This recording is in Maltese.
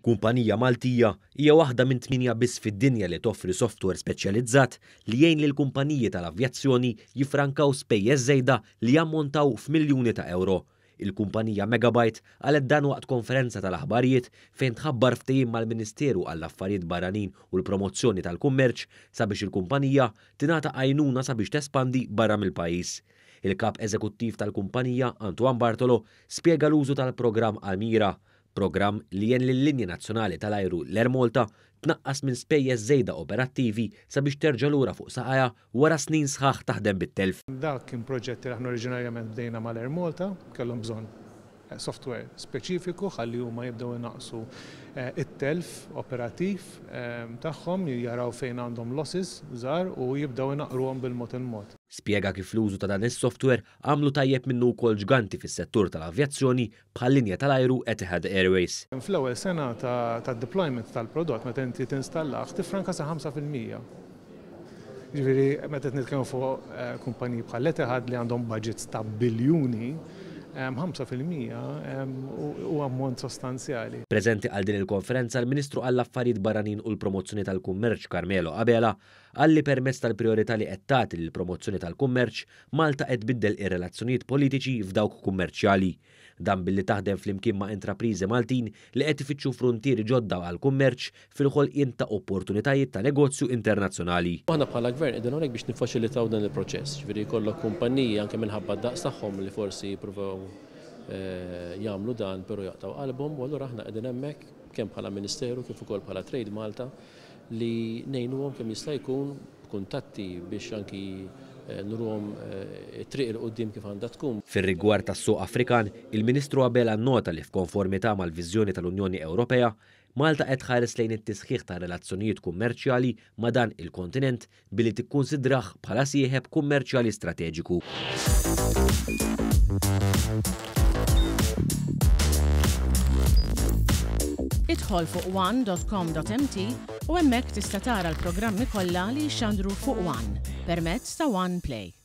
Kumpanija Maltija hija waħda minn tmienja biss fid-dinja li toffri software speċjalizzat li jgħin lill-kumpaniji tal-avjazzjoni jiffrankaw spejjeż żejda li jammontaw f'miljuni ta' ewro. Il-kumpanija Megabyte qalet dan waqt konferenza tal-aħbarijiet fejn tħabbar ftehim mal-Ministeru għall-Affarijiet Barranin u l-Promozzjoni tal-Kummerċ sabiex il-kumpanija tingħata għajnuna sabiex tespandi barra mill-pajjiż. Il-Kap Eżekuttiv tal-kumpanija, Antoine Bartolo, spjega l-użu tal-programm Almira, programm li għen lil-linja nazzjonali tal-ajru l-Air Malta tnaqqas minn spejjeż żejda operattivi sabiex terġa' lura fuq saqajha wara snin sħaħ taħdem bit-telf. Dak kien proġett li aħna oriġinarjament bdejna mal-Air Malta, kellhom bżonn software speċifiku ħalli huma jibdew inaqqsu t-telf operattiv tagħhom, jaraw fejn għandhom losses żgħar u jibdew inaqqruhom bil-mod il-mod. Spjega kif l-użu ta' dan is-software għamlu tajjeb minnu wkoll ġganti fis-settur tal-avjazzjoni bħal-linja tal-ajru Etihad Airways. Fl-ewwel sena tad-deployment tal-prodott, meta inti tinstallah, tiffranka sa 5%. Jiġifieri meta qed nitkellmu fuq kumpaniji bħal Etihad li għandhom budgets ta' biljuni, 5% huwa ammont sostanzjali. Preżenti għal din il-konferenza l-Ministru għall-Affarijiet Barranin u l-Promozzjoni tal-Kummerċ Carmelo Abela qal li permezz tal-prijorità li qed tagħti lill-promozzjoni tal-kummerċ, Malta qed tbiddel ir-relazzjonijiet politiċi f'dawk kummerċjali. Dan billi taħdem flimkien ma' intrapriżi Maltin li qed ifittxu fruntieri ġodda għall-kummerċ fil-ħolqien ta' opportunitajiet ta' negozju internazzjonali. Aħna bħala Gvern qegħdin hawnhekk biex niffaċilitaw dan il-proċess, jiġifieri jkollok kumpanniji anke minħabba d-daqs tagħhom li forsi jippruvaw jagħmlu dan però jaqtgħu qalbhom u allura aħna qegħdin hemmhekk kemm bħala Ministeru kif ukoll bħala Trade Malta li ngħinuhom kemm jista' jkun b'kuntatti biex anki nuruhom it-triq 'il quddiem kif għandha tkun. Fir-rigward tas-suq Afrikan, il-Ministru Abela nnota li f'konformità mal-viżjoni tal-Unjoni Ewropea, Malta qed tħares lejn it-tisħiħ tar-relazzjonijiet kummerċjali ma' dan il-kontinent billi tikkunsidrah bħala sieħeb kummerċjali strateġiku. Idħol fuq one.com.mt u hemmhekk tista' tara l-programmi kollha li jixxandru fuq One permezz ta' One Play.